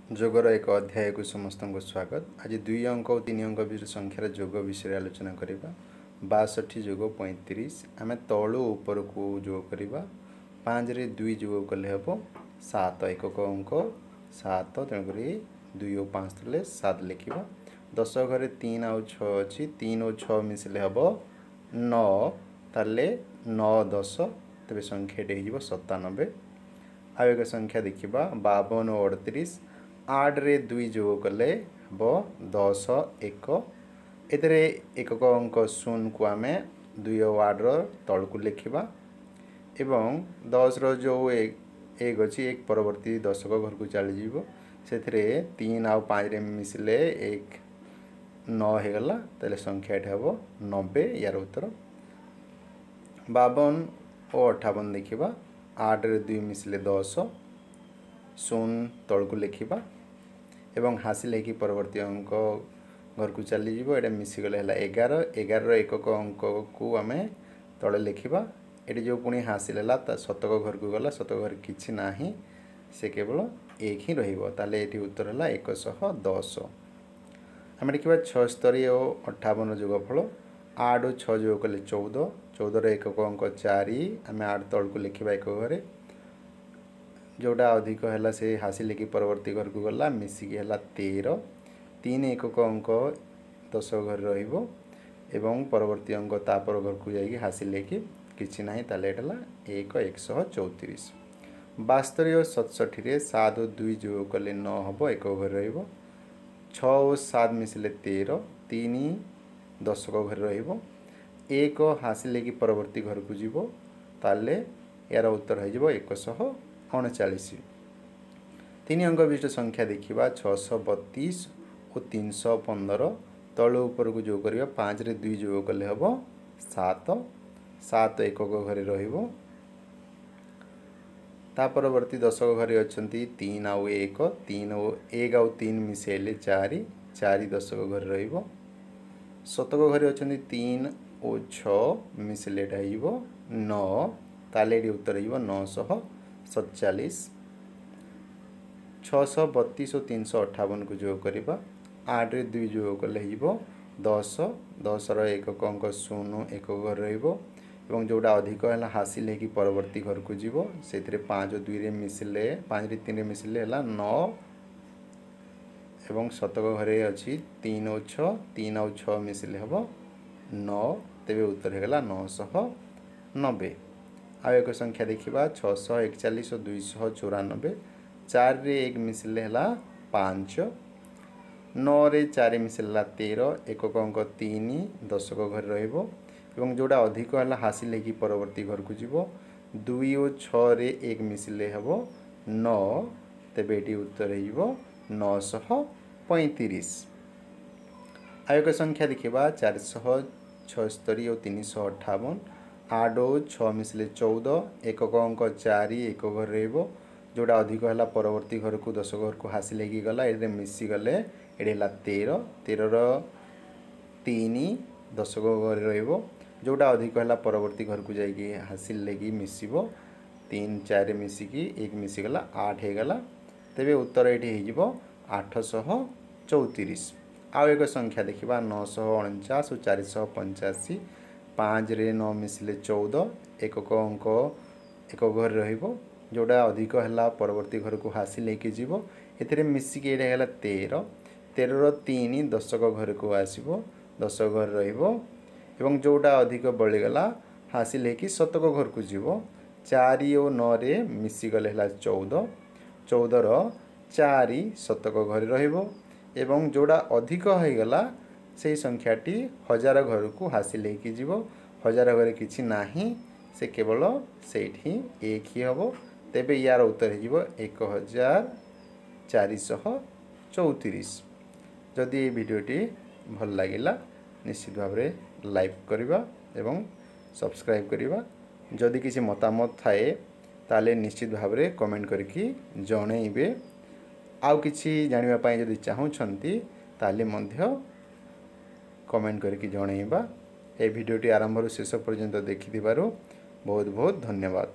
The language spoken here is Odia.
ଯୋଗର ଏକ ଅଧ୍ୟାୟକୁ ସମସ୍ତଙ୍କୁ ସ୍ୱାଗତ। ଆଜି 2 ଅଙ୍କ ଓ 3 ଅଙ୍କ ବିଶିଷ୍ଟ ସଂଖ୍ୟାର ଯୋଗ ବିଷୟରେ ଆଲୋଚନା କରିବା। 62 ଯୋଗ 35, ଆମେ ତଳୁ ଉପରକୁ ଯୋଗ କରିବା। 5ରେ 2 ଯୋଗ କଲେ ହେବ 7, ଏକକ ଅଙ୍କ 7, ତେଣୁକରି 2 ଓ 5 ଥିଲେ 7 ଲେଖିବା। 10 ଘରେ 3 ଆଉ 6 ଅଛି, 3 ଓ 6 ମିଶିଲେ ହେବ 9, ତାହେଲେ 9 10, ତେବେ ସଂଖ୍ୟାଟି ହେଇଯିବ 97। ଆଉ ଏକ ସଂଖ୍ୟା ଦେଖିବା, 52 ଓ 38। 8ରେ 2 ଯୋଗ କଲେ ହେବ 10 1, ଏଥିରେ ଏକକ ଅଙ୍କ 0କୁ ଆମେ 2 ଓ 8ର ତଳକୁ ଲେଖିବା ଏବଂ 10ର ଯେଉଁ 1 ଅଛି, 1 ପରବର୍ତ୍ତୀ ଦଶକ ଘରକୁ ଚାଲିଯିବ। ସେଥିରେ 3 ଆଉ 5ରେ ମିଶିଲେ 1 9 ହେଇଗଲା, ତାହେଲେ ସଂଖ୍ୟାଟି ହେବ 90 ୟାର ଉତ୍ତର। 52 ଓ 58 ଦେଖିବା। 8ରେ 2 ମିଶିଲେ 10, 0 ତଳକୁ ଲେଖିବା ଏବଂ ହାସିଲ ହେଇକି ପରବର୍ତ୍ତୀ ଅଙ୍କ ଘରକୁ ଚାଲିଯିବ। ଏଇଟା ମିଶିଗଲେ ହେଲା 11, 11ର ଏକକ ଅଙ୍କକୁ ଆମେ ତଳେ ଲେଖିବା। ଏଠି ଯେଉଁ ପୁଣି ହାସିଲ ହେଲା ତା ଶତକ ଘରକୁ ଗଲା, ଶତକ ଘରେ କିଛି ନାହିଁ, ସେ କେବଳ 1 ହିଁ ରହିବ। ତାହେଲେ ଏଠି ଉତ୍ତର ହେଲା 110। ଆମେ ଦେଖିବା 76 ଓ 58 ଯୋଗଫଳ। 8 ଓ 6 ଯୋଗ କଲେ 14, 14ର ଏକକ ଅଙ୍କ 4, ଆମେ 8 ତଳକୁ ଲେଖିବା ଏକ ଘରେ। ଯେଉଁଟା ଅଧିକ ହେଲା ସେ ହାସିଲ ହେଇକି ପରବର୍ତ୍ତୀ ଘରକୁ ଗଲା, ମିଶିକି ହେଲା 13, 3 ଏକକ ଅଙ୍କ ଦଶ ଘରେ ରହିବ ଏବଂ ପରବର୍ତ୍ତୀ ଅଙ୍କ ତାପର ଘରକୁ ଯାଇକି ହାସିଲ ହେଇକି କିଛି ନାହିଁ, ତାହେଲେ ଏଇଟା ହେଲା 1 134। 72 ଓ 67ରେ 7 ଓ 2 ଯୋଗ କଲେ 9 ହେବ, ଏକ ଘରେ ରହିବ। 6 ଓ 7 ମିଶିଲେ 13, 3 ଦଶକ ଘରେ ରହିବ, 1 ହାସିଲ ହେଇକି ପରବର୍ତ୍ତୀ ଘରକୁ ଯିବ, ତାହେଲେ ଏହାର ଉତ୍ତର ହେଇଯିବ 139। 3 ଅଙ୍କ ବିଶିଷ୍ଟ ସଂଖ୍ୟା ଦେଖିବା, 632 ଓ 315। ତଳୁ ଉପରକୁ ଯୋଗ କରିବା। 5ରେ 2 ଯୋଗ କଲେ ହେବ 7, 7 ଏକକ ଘରେ ରହିବ। ତା ପରବର୍ତ୍ତୀ ଦଶକ ଘରେ ଅଛନ୍ତି 3 ଆଉ 1, 3 ଓ 1 ଆଉ 3 ମିଶାଇଲେ 4, 4 ଦଶକ ଘରେ ରହିବ। ଶତକ ଘରେ ଅଛନ୍ତି 3 ଓ 6 ମିଶିଲେ ଏଇଟା ହେଇଯିବ 9, ତାହେଲେ ଏଠି ଉତ୍ତର ହେଇଯିବ 947। 632 ଓ 358କୁ ଯୋଗ କରିବା। 8ରେ 2 ଯୋଗ କଲେ ହେଇଯିବ 10, 10ର ଏକକ ଅଙ୍କ 0 ଏକ ଘରେ ରହିବ ଏବଂ ଯେଉଁଟା ଅଧିକ ହେଲା ହାସିଲ ହେଇକି ପରବର୍ତ୍ତୀ ଘରକୁ ଯିବ। ସେଥିରେ 5 ଓ 2ରେ ମିଶିଲେ, 5ରେ 3ରେ ମିଶିଲେ ହେଲା 9 ଏବଂ ଶତକ ଘରେ ଅଛି 3 ଓ 6, 3 ଆଉ 6 ମିଶିଲେ ହେବ 9, ତେବେ ଉତ୍ତର ହେଇଗଲା 990। ଆଉ ଏକ ସଂଖ୍ୟା ଦେଖିବା, 641 ଓ 294। 4ରେ 1 ମିଶିଲେ ହେଲା 5, 9ରେ 4 ମିଶିଲେ ହେଲା 13, ଏକକ ଅଙ୍କ 3 ଦଶକ ଘରେ ରହିବ ଏବଂ ଯେଉଁଟା ଅଧିକ ହେଲା ହାସିଲ ହେଇକି ପରବର୍ତ୍ତୀ ଘରକୁ ଯିବ। 2 ଓ 6ରେ 1 ମିଶିଲେ ହେବ 9, ତେବେ ଏଠି ଉତ୍ତର ହେଇଯିବ 935। ଆଉ ଏକ ସଂଖ୍ୟା ଦେଖିବା, 476 ଓ 358। 8 ଓ 6 ମିଶିଲେ 14, ଏକକ ଅଙ୍କ 4 ଏକ ଘରେ ରହିବ, ଯେଉଁଟା ଅଧିକ ହେଲା ପରବର୍ତ୍ତୀ ଘରକୁ ଦଶକ ଘରକୁ ହାସିଲ ହେଇକି ଗଲା। ଏଥିରେ ମିଶିଗଲେ ଏଠି ହେଲା 13, 13ର 3 ଦଶକ ଘରେ ରହିବ, ଯେଉଁଟା ଅଧିକ ହେଲା ପରବର୍ତ୍ତୀ ଘରକୁ ଯାଇକି ହାସିଲ ହେଇକି ମିଶିବ। 3 4 ମିଶିକି 1 ମିଶିଗଲା 8 ହେଇଗଲା, ତେବେ ଉତ୍ତର ଏଠି ହେଇଯିବ 834। ଆଉ ଏକ ସଂଖ୍ୟା ଦେଖିବା, 949 ଓ 485। 5ରେ 9 ମିଶିଲେ 14, ଏକକ ଅଙ୍କ ଏକ ଘରେ ରହିବ, ଯେଉଁଟା ଅଧିକ ହେଲା ପରବର୍ତ୍ତୀ ଘରକୁ ହାସିଲ ହେଇକି ଯିବ। ଏଥିରେ ମିଶିକି ଏଇଟା ହେଲା 13, 13ର 3 ଦଶକ ଘରକୁ ଆସିବ, ଦଶକ ଘରେ ରହିବ ଏବଂ ଯେଉଁଟା ଅଧିକ ବଳିଗଲା ହାସିଲ ହେଇକି ଶତକ ଘରକୁ ଯିବ। 4 ଓ 9ରେ ମିଶିଗଲେ ହେଲା 14, 14ର 4 ଶତକ ଘରେ ରହିବ ଏବଂ ଯେଉଁଟା ଅଧିକ ହେଇଗଲା ସେଇ ସଂଖ୍ୟାଟି ହଜାର ଘରକୁ ହାସିଲ ହେଇକି ଯିବ। ହଜାର ଘରେ କିଛି ନାହିଁ, ସେ କେବଳ ସେଇଠି 1 ହିଁ ହେବ, ତେବେ ୟାର ଉତ୍ତର ହେଇଯିବ 1434। ଯଦି ଏଇ ଭିଡ଼ିଓଟି ଭଲ ଲାଗିଲା ନିଶ୍ଚିତ ଭାବରେ ଲାଇକ୍ କରିବା ଏବଂ ସବସ୍କ୍ରାଇବ୍ କରିବା। ଯଦି କିଛି ମତାମତ ଥାଏ ତାହେଲେ ନିଶ୍ଚିତ ଭାବରେ କମେଣ୍ଟ କରିକି ଜଣେଇବେ। ଆଉ କିଛି ଜାଣିବା ପାଇଁ ଯଦି ଚାହୁଁଛନ୍ତି ତାହେଲେ ମଧ୍ୟ କମେଣ୍ଟ କରିକି ଜଣେଇବା। ଏ ଭିଡ଼ିଓଟି ଆରମ୍ଭରୁ ଶେଷ ପର୍ଯ୍ୟନ୍ତ ଦେଖିଥିବାରୁ ବହୁତ ବହୁତ ଧନ୍ୟବାଦ।